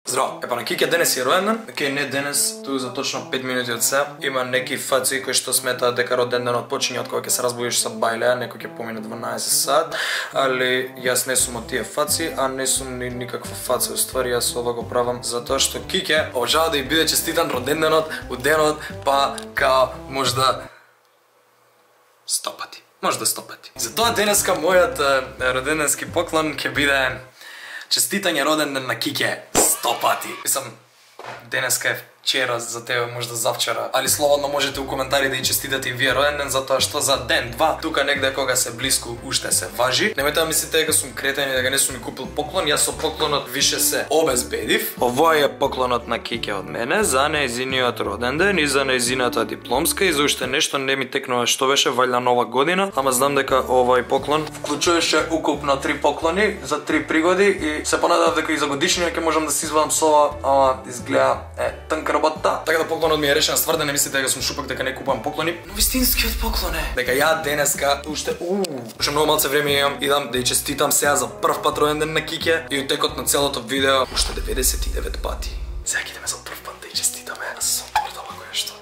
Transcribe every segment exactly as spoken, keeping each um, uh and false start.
Здраво, епа на Кике денес е роден ден. Океј, не денес, ту за точно пет минути од сега. Има неки фаци кои што сметаат дека роден денот почиње од кога ќе се разбудиш са бајлеа, некој ќе помине дванаесет сат, али јас не сум од тие фаци, а не сум ни никаква фаца. Уствари јас ова го правам затоа што Кике обожава да ја биде честитан роден денот, у денот, па као можда сто пати. Можда сто пати. Затоа денеска мојот роденденски поклон ќе биде честитање роден ден на Кике сто пати. Мислам, денеска е вчера за тебе, можда завчера, али слободно можете у коментари да и честитате и вие роден ден, затоа што за ден, два, тука негде кога се блиску уште се важи. Немојте да мислите дека сум кретен и дека не сум ни купил поклон, јас со поклонот више се обезбедив. Овој е поклонот на Кике од мене за нејзиниот роден ден и за нејзината дипломска и за уште нешто не ми текнува што беше, валја нова година, ама знам дека овој поклон вклучуваше укупно три поклони за три пригоди и се понадав дека и за годишнина ќе можам да се извадам со ова, ама изгледа е тнка работа. Така да поклонот ми е решен, ствар да не мислите дека сум шупак дека не купувам поклони, но вистинскиот поклон е дека ја денеска уште уу, уште многу малце време имам, идам да ја честитам сега за прв пат роден ден на Кике и утекот на целото видео уште деветдесет и девет пати. Сега ќе идеме за прв пат да ја честитаме со торта вако е што.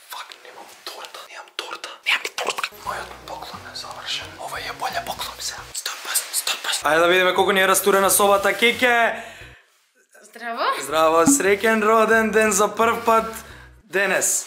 Фак, немам торта, немам торта, немам ни торта. Мојот поклон е завршен. Ова е боле поклон сега. Стоп пас, стоп пас. Ајде да видиме колку ни е растурена собата, Кике. Здраво. Здраво, среќен роден ден за прв пат денес.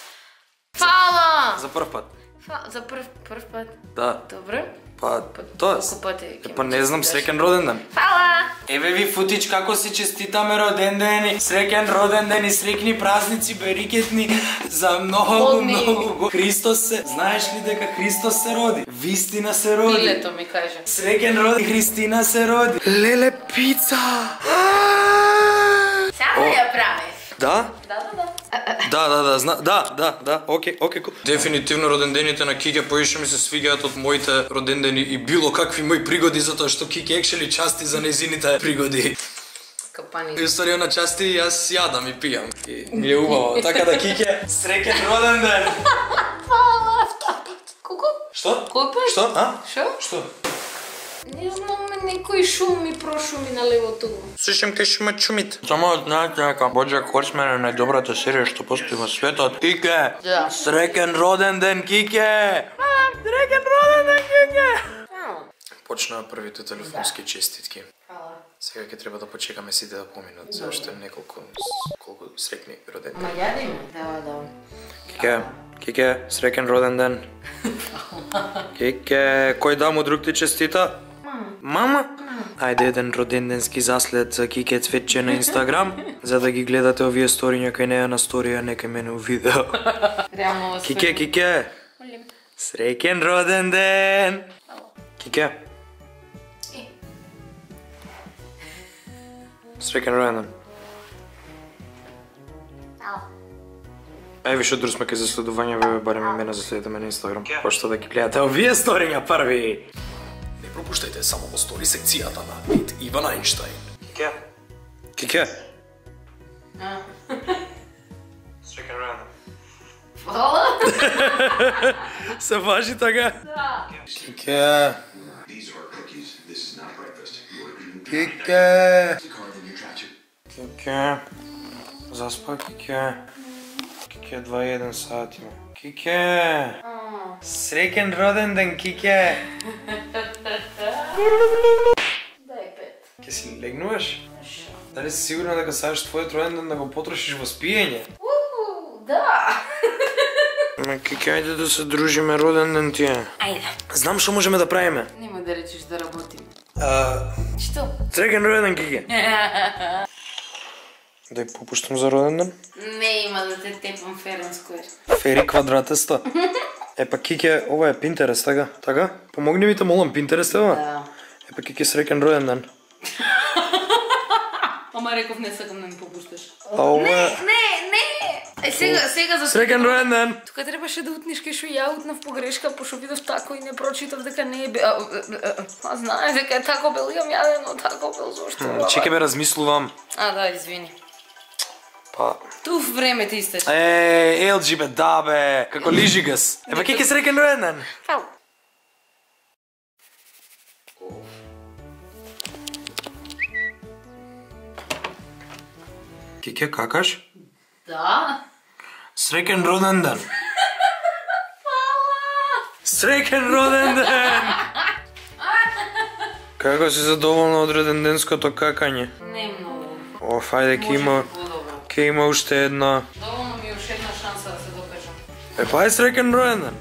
Фала! За прв пат. Фа... За прв, прв пат? Да. Добре. Па, тоа. Колку пати ќе Па не знам, среќен роден ден. Фала! Еве ви футич како си честитаме роден ден, среќен роден ден и среќни празници, берикетни за многу, многу. Христос се, знаеш ли дека Христос се роди? Вистина се роди. Пилето ми каже. Среќен роден, Христина се роди. Леле пица! Само ја правиш. Да? Да, да, да. Да, да, да, зна, да, да, да, окей, окей, кул. Дефинитивно родендените на Кике поише ми се свигаат од моите родендени и било какви мои пригоди, затоа што Кике екшели части за нејзините пригоди. Капани. Историја на части јас јадам и пијам. И ми е убаво. Така да Кике, среќен роден ден. Фала. Колку? Што? Кој пат? Што? А? Шо? Што? Не знам, некој шум ми прошуми на левото. Слушам кај шума чумит. Само знаете дека Боџак Хорсман е најдобрата серија што постои во светот. Кике! Да. Среќен роден ден, Кике! Среќен роден ден, Кике! Почнаа првите телефонски честитки. Фала. Сега ќе треба да почекаме сите да поминат, зашто неколку колку среќни роден ден. Ма јадиме? Да, да. Кике, Кике, среќен роден ден. Кике, кој да му друг ти честита? Мама? Ајде еден роденденски заслед за Кике Цветче на Инстаграм, за да ги гледате овие сториња кај неја на сторија, не кај мене у видео. Реално во Кике, Кике, Молим. среќен роден ден. Кике. Среќен роден ден. Е, више друг сме кај заследување, ве барем и мене заследите ме на Инстаграм, пошто да ги гледате овие сториња први. Не пропуштајте само во стори секцијата на Мит Иван Ајнштајн. Кике. Кике. Среќен роден ден. Фала. Се важи така? Да. Кике. Кике. Кике. Заспа, Кике. Кике, два и еден сат има. Кике. Среќен роден ден, Кике. Дај пет. Ке си легнуваш? Дали си сигурна дека сакаш твојот роден ден да го потрошиш во спиење? Уу, да. Ма Кике, ајде да се дружиме, роден ден ти е. Ајде. Знам што можеме да правиме. Нема да речеш да работиме. А, Што? среќен роден ден, Кике. Да ја попуштам за роден ден? Не има да те тепам ферен сквер. Фери квадратеста. Епа Кике, ова е Pinterest, така? Така? Помогни ми те молам, Pinterest ева? Да. Епа Кике, среќен роден ден. Ама реков не сакам да ми попушташ. А ова е... Не, не! Е, сега, сега за... Среќен роден ден! Тука требаше да утниш кај шо ја утнав погрешка, пошто видов тако и не прочитав дека не е бе... А, а знаеш дека е тако бел, имам јадено тако бел, зашто? Чекай бе, размислувам. А, да, извини. Па... Туф време ти истече. Е, ел джи бе, да бе, како лижи гас. Епа Кике, среќен роден ден! Фау. Кике, какаш? Да. Среќен роден ден. Среќен роден ден. Како си задоволна од роденденското какање? Не многу. Оф, ајде, ке има, ке има уште една. Доволно ми уште една шанса да се докажам. Е, па е среќен роден ден.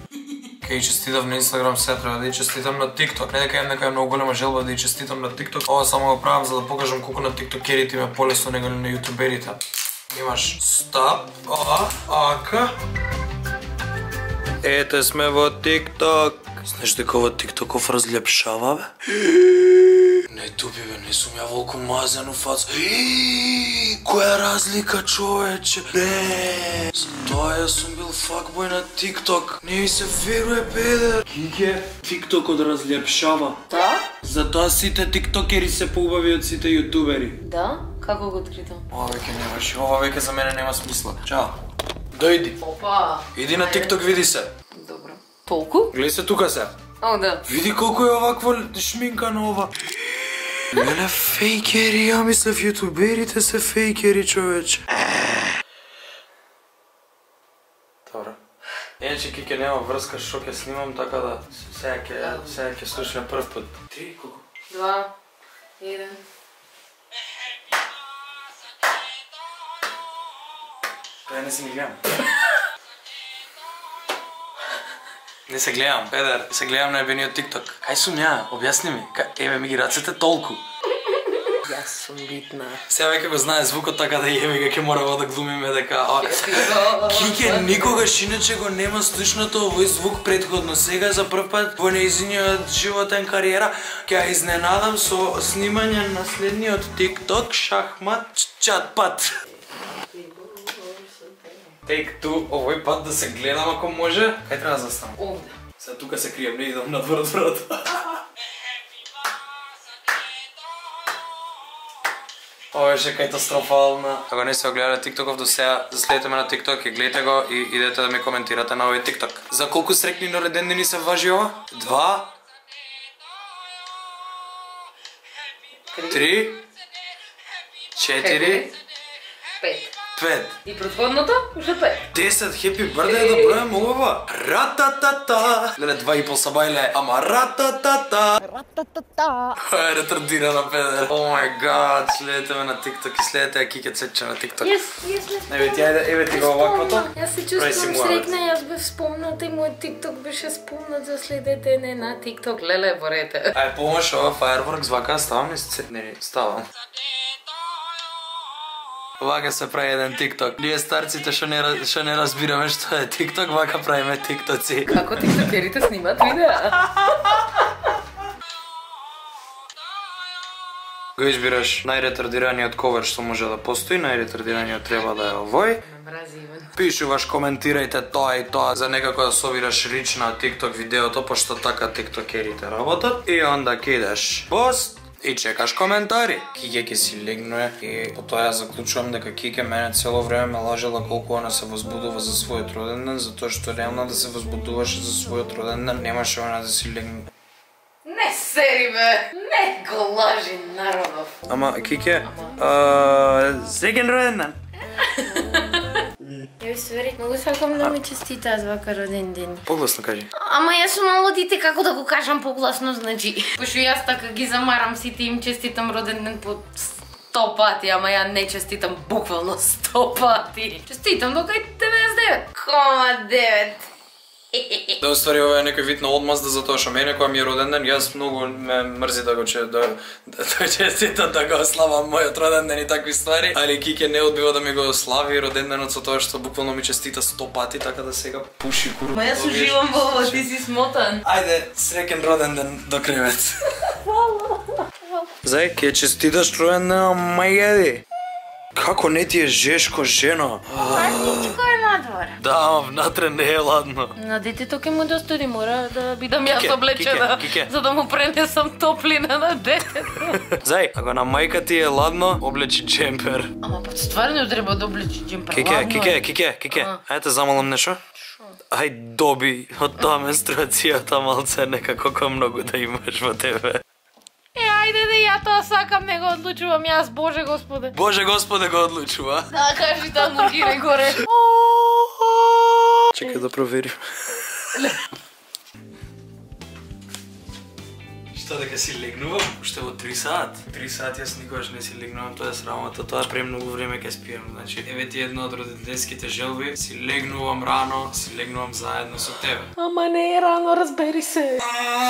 Ке и честитав на Инстаграм, се треба да и честитам на TikTok. Не дека имам некоја многу голема желба да и честитам на TikTok. Ова само го правам за да покажам колку на тиктокерите има полесно него на јутуберите. Имаш стоп, а, ака. Ете сме во TikTok. Знаеш дека ова TikTokов разлепшава, бе? Не туби, бе, не сум ја волку мазен у фац. Која разлика, човече? Не. Затоа ја сум бил факбој на TikTok. Не ми се веруе, педер. Кике, TikTokот разлепшава. Да? Затоа сите тиктокери се поубави од сите јутубери. Да? Како го откритам? Ова веќе немаш, ова веќе за мене нема смисла. Чао. Дојди. Опа. Иди на TikTok, види се. Добро. Толку? Гледај се тука се. О, да. Види колку е овакво шминка на ова. Леле, фейкери, ја мислев јутуберите се фейкери, човече. Добро. Иначе Кике нема врска што ќе снимам, така да сега ќе сега ќе слушаме прв пат. Три, колку? Два. Еден. Тоа не се ни гледам. Не се гледам, педер, се гледам на ебениот TikTok. Кај сум ја? Објасни ми. Еве ми ги рацете толку. Јас сум битна. Сега веќе го знае звукот, така да јеме га ќе мора да глумиме дека Кике никогаш иначе го нема слушнато овој звук претходно. Сега за прв пат во нејзиниот животен кариера ќе ја изненадам со снимање на следниот TikTok шахмат чатпат. Take two, овој пат да се гледам ако може. Кај треба да застанам? Овде. Сега тука се криjem, не идам надвор од врата. Ова беше катастрофална. Ако не сте гледале TikTokов до сега, заследете ме на TikTok и гледате го и идете да ми коментирате на овој TikTok. За колку среќни родендени се важи ова? Два. Три. Четири. Пет. Пет. И предходното? Уште пет. Десет, хепи бърдей да бројам ова. Рататата. Леле, два и пол са бајле, ама рататата. Рататата. Е, ретардирана, педер. О мај гад, следете ме на TikTok и следете ја Кике Цече на TikTok. Јас, јас не спомнам. Еве ти, ајде, еве ти го оваквото. Јас се Прави си чувствувам му срекна, јас бев спомната и мојот TikTok беше спомнат за следете не на TikTok. Леле, борете. Ај, помаш ова Fireworks, вака ставам ли се? Не, не, ставам. Вака се прави еден TikTok. Ние старците што не што не разбираме што е TikTok, вака правиме TikToци. Како тиктокерите снимат видеа? Го избираш најретардираниот ковер што може да постои, најретардираниот треба да е овој. Мрази Иван. Пишуваш, коментирајте тоа и тоа за некако да собираш рич на TikTok видеото, пошто така тиктокерите работат. И онда кидаш пост и чекаш коментари. Кике ќе си легнуе и по тоа ја заклучувам дека Кике мене цело време ме лажела колку она се возбудува за својот роден ден, затоа што реално да се возбудуваше за својот роден ден, немаше она да си легне. Не сери бе, не го лажи народов. Ама Кике, среќен роден ден. Ја ствари, многу сакам да ми честитаат вака роден ден. Погласно кажи. Ама јас сум мало дите, како да го кажам погласно, значи. Пошто јас така ги замарам сите им честитам роден ден по сто пати, ама ја не честитам буквално сто пати. Честитам до кај деветдесет и девет кома девет. Да уствари ова е некој вид на одмазда затоа што мене кога ми е роден ден, јас многу ме мрзи да го че да да честитам да го славам мојот роден ден и такви ствари, али Кике не одбива да ми го слави роден денот со тоа што буквално ми честита сто пати, така да сега пуши куру. Ма јас уживам во ова, ти си смотан. Ајде, среќен роден ден до кревет. Зај, ќе честиташ роден ден, мајади. Како не ти е жешко, жено? Ладничко е надвор. Да, ама внатре не е ладно. На детето ќе му достори, мора да бидам јас Кике, облечена, Кике, Кике. за да му пренесам топлина на детето. Зај, ако на мајка ти е ладно, облечи джемпер. Ама па стварно треба да облечи джемпер. Кике, ладно е. Кике, Кике, Кике, ајде те замалам нешто? Ај доби од таа менструацијата малце некако колку многу да имаш во тебе. Е, ајде да ја тоа сакам, не го одлучувам јас, Боже Господе. Боже Господе го одлучува. Да, кажи тоа мургире горе. Чекај да проверим. Што дека си легнувам? Уште во три сат. три сати јас никогаш не си легнувам, тоа е срамота, тоа премногу време ке спијам. Значи, еве ти едно од родителските желби, си легнувам рано, си легнувам заедно со тебе. Ама не е рано, разбери се.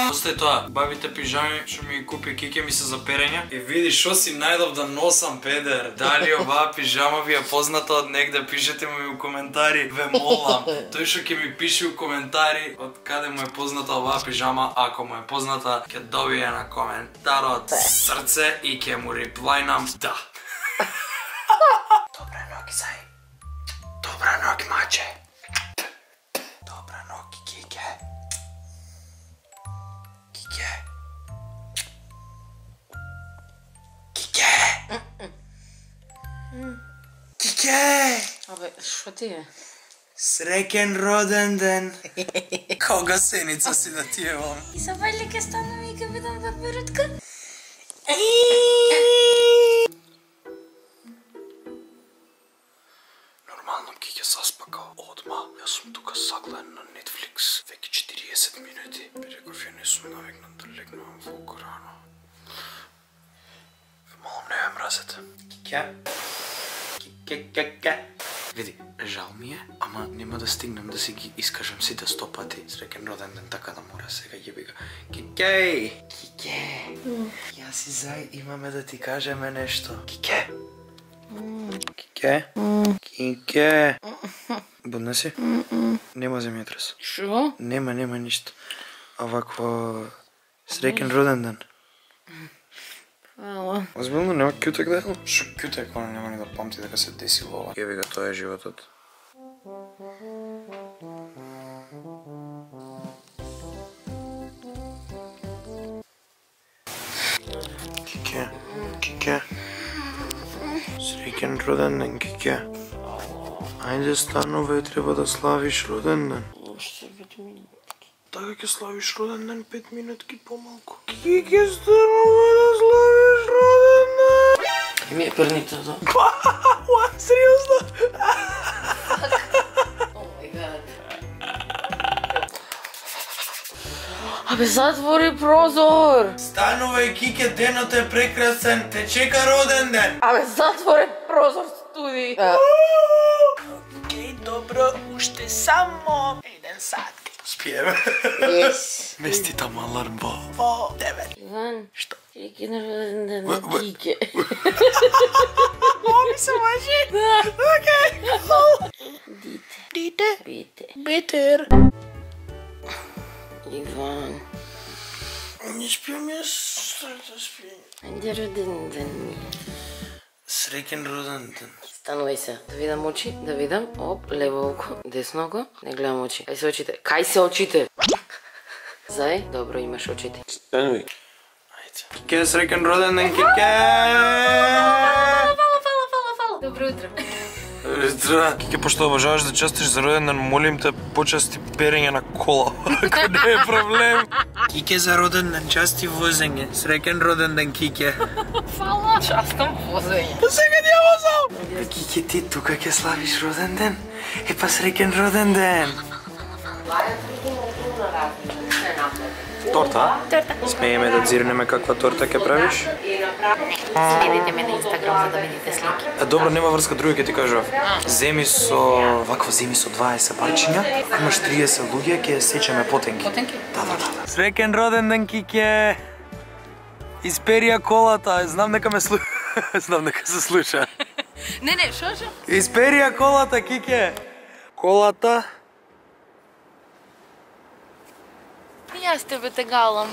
Остај тоа, бабите пижами што ми ги купи Кике ми се за перење. И види што си најдов да носам, педер. Дали оваа пижама ви е позната од негде, пишете ми у коментари, ве молам. Тој што ќе ми пише у коментари од каде му е позната оваа пижама, ако му е позната, ќе добие на коментарот срце и ќе му реплајнам да. Добра ноги, зај. Добра ноги, маче. Добра ноги, Кике. Кике. Кике. Кике. Абе, шо ти е? Среќен роден ден. Кога сеница си да ти евам. И са вајле ке станам и ке видам пеперутка. Нормално Кике заспакал одма. Јас сум тука загледен на Netflix веќе четириесет минути. Реков ја не сум навикнат да легнувам волку рано. Малом не ме мразете. Кике. Кике, Кике. Види, жал ми е, ама нема да стигнем да си ги искажам сите сто пати. Среќен роден ден, така да мора сега јеби га. Кике! Кике! Јас и Зај имаме да ти кажеме нешто. Кике! Кике? Кике! Будна си? Нема земјотрес. Шо? Нема, нема ништо. А вакво... Среќен роден ден. Ала. Озбилно нема кјутек да е? Шо кјутек, она нема ни да памти дека се десило ова. Еви га, тоа е животот. Кике, Кике. Среќен роден ден, Кике. Ајде станувај, треба да славиш роден ден. Уште пет минути. Така ќе славиш роден ден пет минутки помалку. Кике, станувај да славиш роден ден. Ми е перните да. Уа, сериозно? О мај гад. Абе, затвори прозор. Станувај, Кике, денот е прекрасен, те чека роден ден. Абе, затвори прозор, студи. Океј, добро, уште само еден сат. Спиеме. Yes. Мести там аларм во во девет. Иван, Што? Кике на роден ден на Б- б- Кике. Ови се мажи? Да. Океј. Дите. Дите? Бите. Бетер. Иван. Не спиам јас, да спиам. Ајде роден ден ми. Среќен роден ден. Станувај се, да видам очи, да видам. Оп, лево око, десно око. Не гледам очи. Кај се очите? Кај се очите? Зај, добро имаш очите. Станувај. Ајде. Кике, среќен роден ден, Кике! Фала, фала, фала, фала. Добро утро. Здра, Кике, пошто обожаваш да честиш за роден ден, молим те, почести перење на кола, ако не е проблем. Кике, за роден ден, части возење. Среќен роден ден, Кике. Фала. Частам возење. Па сега ти ја возам. Кике, ти тука ќе славиш роден ден? Е, па среќен роден ден. Торта? Торта. Смееме да дзирнеме каква торта ќе правиш? Следите ме на Инстаграм за да видите слики. А, добро, нема врска, други ќе ти кажував. Земи со... вакво земи со дваесет парчиња. Ако имаш триесет луѓе, ќе сечеме потенки. Потенки? Да, да, да. Среќен роден ден, Кике! Исперија колата, знам дека ме слу... знам дека се слуша. Не, не, шо, шо? Исперија колата, Кике! Колата... И јас тебе те галам.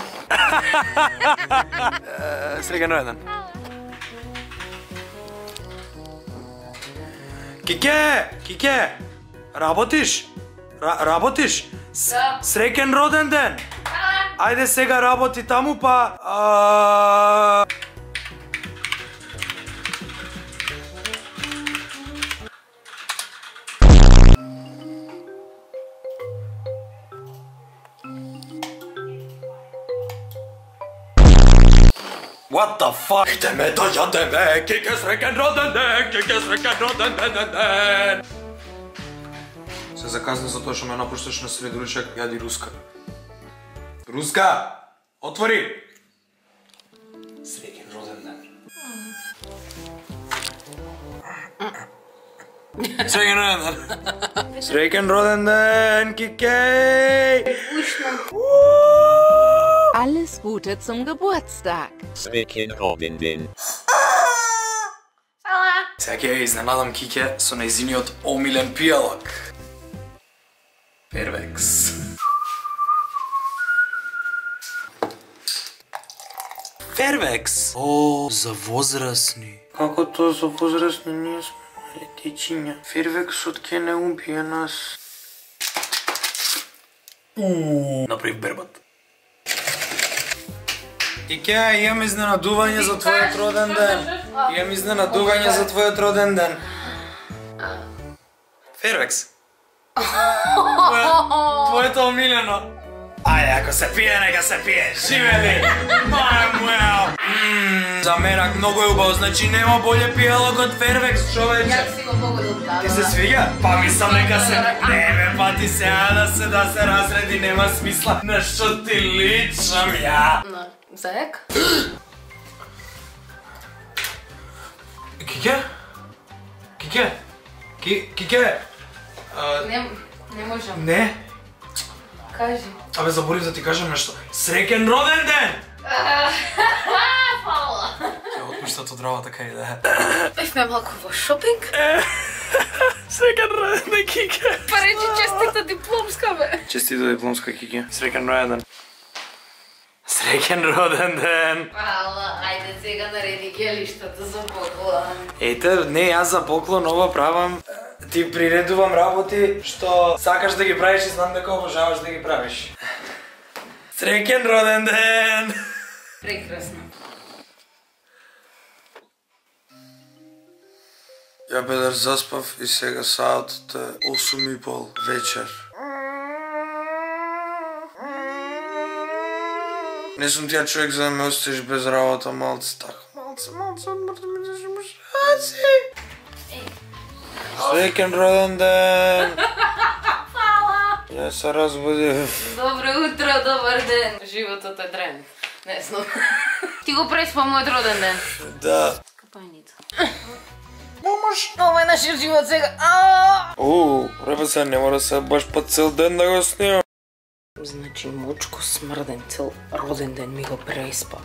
Среќен роден ден. Кике! Кике! Работиш? Ра работиш? С Да. Среќен роден ден! Ајде сега работи таму па... А... What the fuck? Идеме да јадеме, Кике среќен роден ден, Кике среќен роден ден. Се заказни за тоа што ме напушташ на сред уличак, јади руска. Руска! Отвори! Среќен роден ден. Среќен роден ден. Среќен роден ден, Кике! Alles Gute zum Geburtstag. Srekin Rodenden. Сала. Сега ќе ја изненадам Кике со нејзиниот омилен пијалок. Фервекс. Фервекс? О, за возрастни. Како тоа за возрастни? Ние сме детичиња. Фервексот ќе не убие нас. Ууу, направив бербат. Кике, имам изненадување за твојот роден ден. Имам изненадување за твојот роден ден. Фервекс. Твоето омилено. Ајде, ако се пие, нека се пие. Живели! Мамуел! За менак многу е убаво, значи нема боле пијалок од Фервекс, човече. Јас си го погодил таа. Ти се свига? Па мислам нека се... Не бе, па ти сега да се да се разреди, нема смисла. На што ти личам ја? На заек? Кике? Кике? Ки... Кике? Не, не можам. Не? Кажи. Абе, заборив да ти кажам нешто. Среќен роден ден! Фала. Ќе отпуштат од работа кај да е. Бевме малку во шопинг. Среќен роден ден, Кике! Па речи честита дипломска, бе. Честито дипломска, Кике. Среќен роден ден. Среќен роден ден! Фала, ајде сега нареди гелиштата за поклон. Ете, не, јас за поклон ова правам. Ти приредувам работи што сакаш да ги правиш и знам дека обожаваш да ги правиш. Среќен роден ден! Прекрасно. Ја бедер заспав и сега саатот е осум и пол вечер. Не сум тија човек за да ме оставиш без работа, малце така. Малце, малце, одмор да ми дадеш мушаци. Среќен роден ден! Фала. Ја се разбудив. Добро утро, добар ден. Животот е тренд. Не знам. Ти го преспа мојот роден ден. Да. Капајница. Момаш. Ова е нашиот живот сега. Ааа! Уу, ребе се не мора се баш па цел ден да го снимам. Значи, мочко смрден цел роден ден ми го преспа.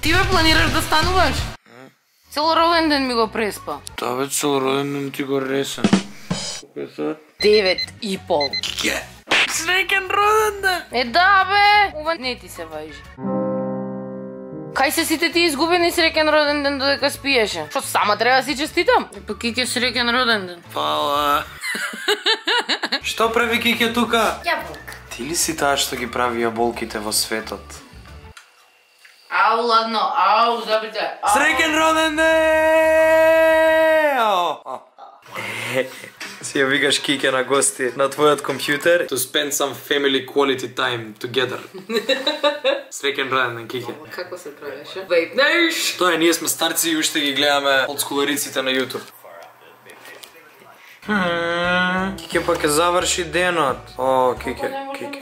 Ти бе планираш да стануваш? Цел роден ден ми го преспа. Да бе, цел роден ден ти го ресен. Колко е сад? Девет и пол. Ке? Среќен роден ден! Е да бе! Ова не ти се важи. Кај се сите ти изгубени среќен роден ден додека спиеше? Што сама треба да си честитам? Па Кике среќен роден ден. Фала. Што прави Кике тука? Јаболка. Ти ли си таа што ги прави јаболките во светот? Ау, ладно, ау, забите. Среќен роден ден! Си ја викаш Кике на гости на твојот компјутер to spend some family quality time together. Среќен роден ден, Кике. Како се правеше? Вејпнеш! Тоа е, ние сме старци и уште ги гледаме олдскулариците на YouTube. Кике па ќе заврши денот. О, Кике, Кике.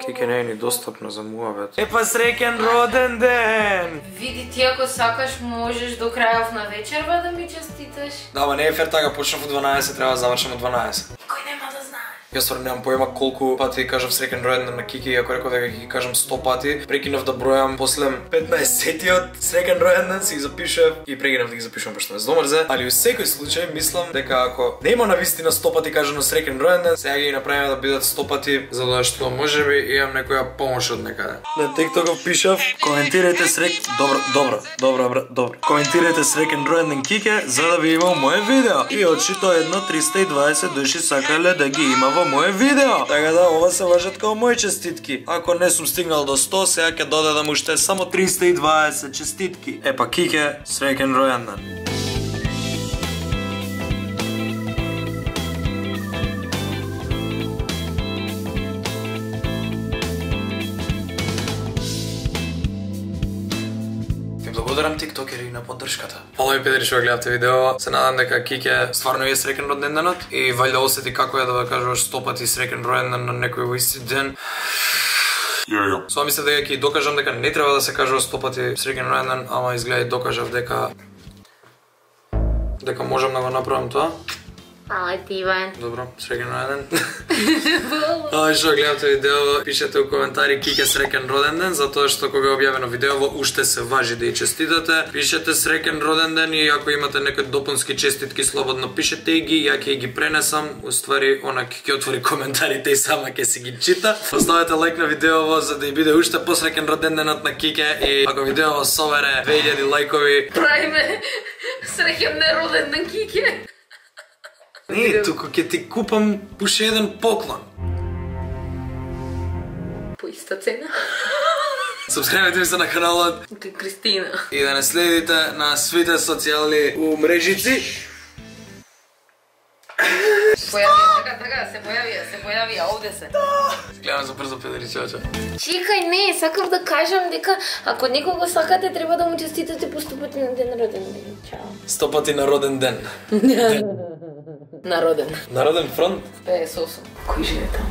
Кике не е ни достапна за муавет. Е па среќен роден ден! Види ти ако сакаш можеш до крајов на вечерва да ми честиташ. Да, ма не е фер така, почнав од дванаесет, треба да завршам од дванаесет. Кој нема да знае. Јас стварно немам појма колку пати кажав среќен роден ден на Кики, иако реков дека ги кажам сто пати, прекинав да бројам после петнаесеттиот среќен роден ден, си ги запишав и прекинав да ги запишувам пошто ме здомрзе, али во секој случај мислам дека ако нема на вистина сто пати кажано среќен роден ден, сега ги направиме да бидат сто пати, за да што можеби имам некоја помош од некаде. На TikTok пишав: коментирајте срек добро, добро, добро, добро. Коментирајте среќен роден ден Кике за да ви има моје видео. И очито едно триста и дваесет души сакале да ги има во моје видео. Така да, ова се важат као мои честитки. Ако не сум стигнал до сто, сега ќе додадам уште само триста и дваесет честитки. Епа Кике, среќен ројан ден. благодарам тиктокери на поддршката. Ало и педери што гледавте видео, се надам дека Кике стварно е среќен роден денот и валјда осети како е да кажуваш сто пати среќен роден ден на некој во исти ден. Со мислев дека ќе докажам дека не треба да се кажува сто пати среќен роден ден, ама изгледа и докажав дека дека можам да го направам тоа. Ајде, Иван. Добро, среќен роден ден. Али што гледате видео, пишете у коментари Кике среќен роден ден, затоа што кога е објавено видеово уште се важи да ја честитате. Пишете среќен роден ден и ако имате некои допунски честитки, слободно пишете и ги, ја ќе ги пренесам. Уствари, она ќе отвори коментарите и сама ќе си ги чита. Оставете лайк на видеово за да и биде уште посреќен роден денот на Кике и ако видеово собере две илјади лајкови, Правиме среќен нероден ден Кике. Не, туку ќе ти купам уште еден поклон. По иста цена. Субскрајбете ми се на каналот Кристина. и да не следите на свите социјални умрежици. Појавија, така, така, се појавија, се појавија, овде се. Гледам за брзо педери чача. Чекај, не, сакав да кажам дека ако некого сакате, треба да му честитате по сто пати на ден роден ден. Чао. Сто пати на роден ден. Народен. Народен фронт? педесет и осум. Кој живе таму?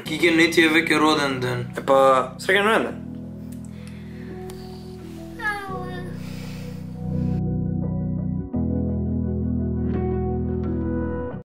Кике не ти е веќе роден ден. Епа, среќен роден ден.